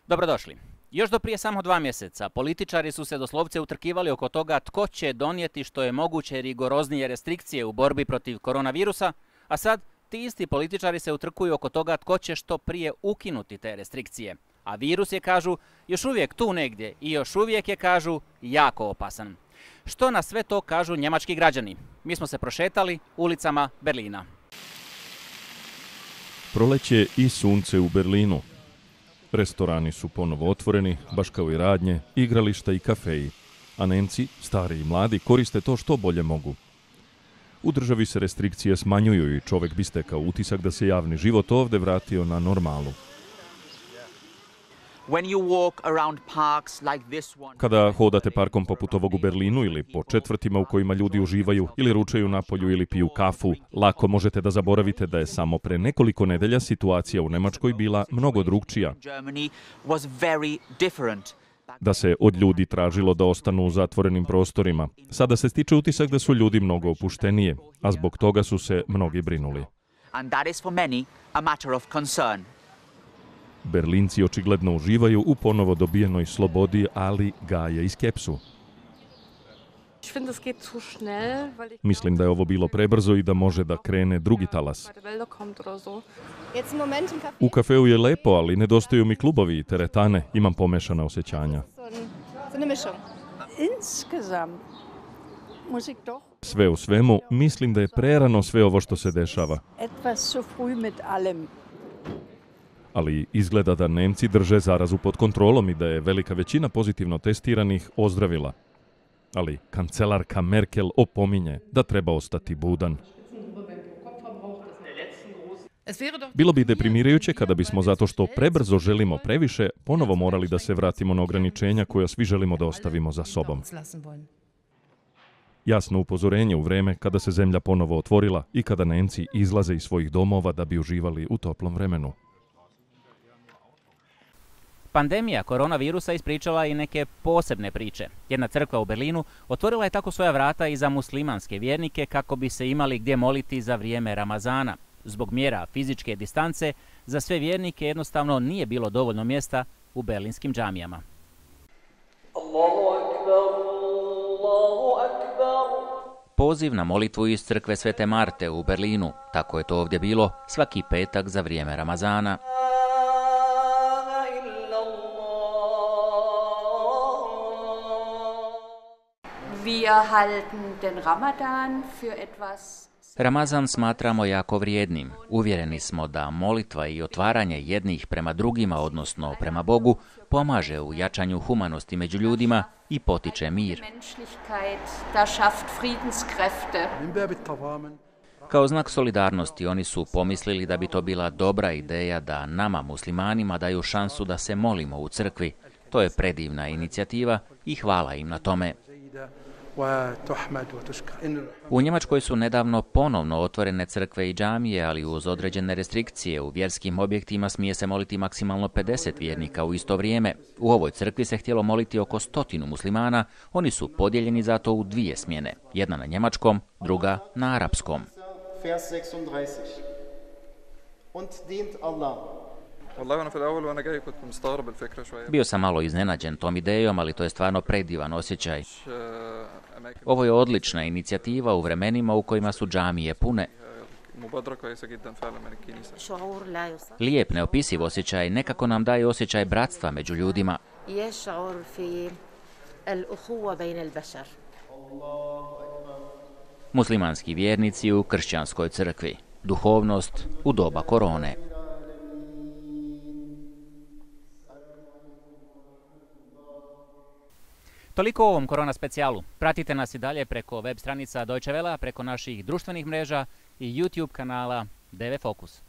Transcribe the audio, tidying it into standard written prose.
Dobrodošli. Još do prije samo 2 mjeseca političari su se doslovce utrkivali oko toga tko će donijeti što je moguće rigoroznije restrikcije u borbi protiv koronavirusa, a sad ti isti političari se utrkuju oko toga tko će što prije ukinuti te restrikcije. A virus je, kažu, još uvijek tu negdje i još uvijek je, kažu, jako opasan. Što na sve to kažu njemački građani? Mi smo se prošetali ulicama Berlina. Proleće i sunce u Berlinu. Restorani su ponovo otvoreni, baš kao i radnje, igrališta i kafeji. A Nemci, stari i mladi, koriste to što bolje mogu. U državi se restrikcije smanjuju i čovjek bi stekao utisak da se javni život ovdje vratio na normalu. Kada hodate parkom poput ovog u Berlinu ili po četvrtima u kojima ljudi uživaju ili ručaju napolju ili piju kafu, lako možete da zaboravite da je samo pre nekoliko nedelja situacija u Njemačkoj bila mnogo drugčija. Da se od ljudi tražilo da ostanu u zatvorenim prostorima. Sada se stiče utisak da su ljudi mnogo opuštenije, a zbog toga su se mnogi brinuli. Berlinci očigledno uživaju u ponovo dobijenoj slobodi, ali gaje i skepsu. Mislim da je ovo bilo prebrzo i da može da krene drugi talas. U kafeu je lepo, ali nedostaju mi klubovi i teretane. Imam pomešana osjećanja. Sve u svemu, mislim da je prerano sve ovo što se dešava. Ali izgleda da Nemci drže zarazu pod kontrolom i da je velika većina pozitivno testiranih ozdravila. Ali kancelarka Merkel opominje da treba ostati budan. Bilo bi deprimirajuće kada bismo zato što prebrzo želimo previše, ponovo morali da se vratimo na ograničenja koja svi želimo da ostavimo za sobom. Jasno upozorenje u vreme kada se zemlja ponovo otvorila i kada Nemci izlaze iz svojih domova da bi uživali u toplom vremenu. Pandemija koronavirusa ispričala i neke posebne priče. Jedna crkva u Berlinu otvorila je tako svoja vrata i za muslimanske vjernike kako bi se imali gdje moliti za vrijeme Ramazana. Zbog mjera fizičke distance, za sve vjernike jednostavno nije bilo dovoljno mjesta u berlinskim džamijama. Poziv na molitvu iz crkve Svete Marte u Berlinu. Tako je to ovdje bilo svaki petak za vrijeme Ramazana. Ramazan smatramo jako vrijednim. Uvjereni smo da molitva i otvaranje jednih prema drugima, odnosno prema Bogu, pomaže u jačanju humanosti među ljudima i potiče mir. Kao znak solidarnosti oni su pomislili da bi to bila dobra ideja da nama, muslimanima, daju šansu da se molimo u crkvi. To je predivna inicijativa i hvala im na tome. U Njemačkoj su nedavno ponovno otvorene crkve i džamije, ali uz određene restrikcije. U vjerskim objektima smije se moliti maksimalno 50 vjernika u isto vrijeme. U ovoj crkvi se htjelo moliti oko 100 muslimana. Oni su podijeljeni zato u 2 smjene. Jedna na njemačkom, druga na arapskom. Bio sam malo iznenađen tom idejom, ali to je stvarno predivan osjećaj. Ovo je odlična inicijativa u vremenima u kojima su džamije pune. Lijep, neopisiv osjećaj, nekako nam daje osjećaj bratstva među ljudima. Muslimanski vjernici u kršćanskoj crkvi. Duhovnost u doba korone. Toliko o ovom korona specijalu. Pratite nas i dalje preko web stranica Deutsche Welle, preko naših društvenih mreža i YouTube kanala DW Fokus.